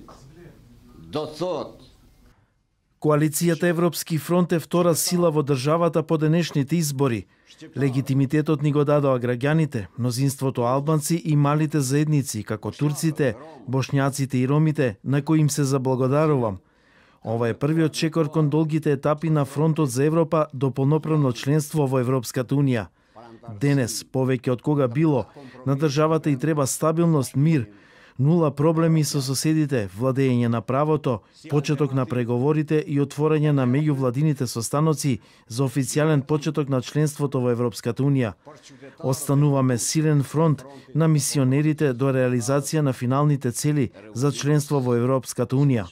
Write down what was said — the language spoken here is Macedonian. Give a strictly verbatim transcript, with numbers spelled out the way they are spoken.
граѓаните. До сод. Коалицијата Европски фронт е втора сила во државата по денешните избори. Легитимитетот ни го дадоа граѓаните, мнозинството албанци и малите заедници, како турците, бошњаците и ромите, на кои им се заблагодарувам. Ова е првиот чекор кон долгите етапи на фронтот за Европа до полноправно членство во Европската унија. Денес, повеќе од кога било, на државата и треба стабилност, мир, нула проблеми со соседите, владење на правото, почеток на преговорите и отворање на меѓувладините состаноци за официјален почеток на членството во Европската унија. Остануваме силен фронт на мисионерите до реализација на финалните цели за членство во Европската унија.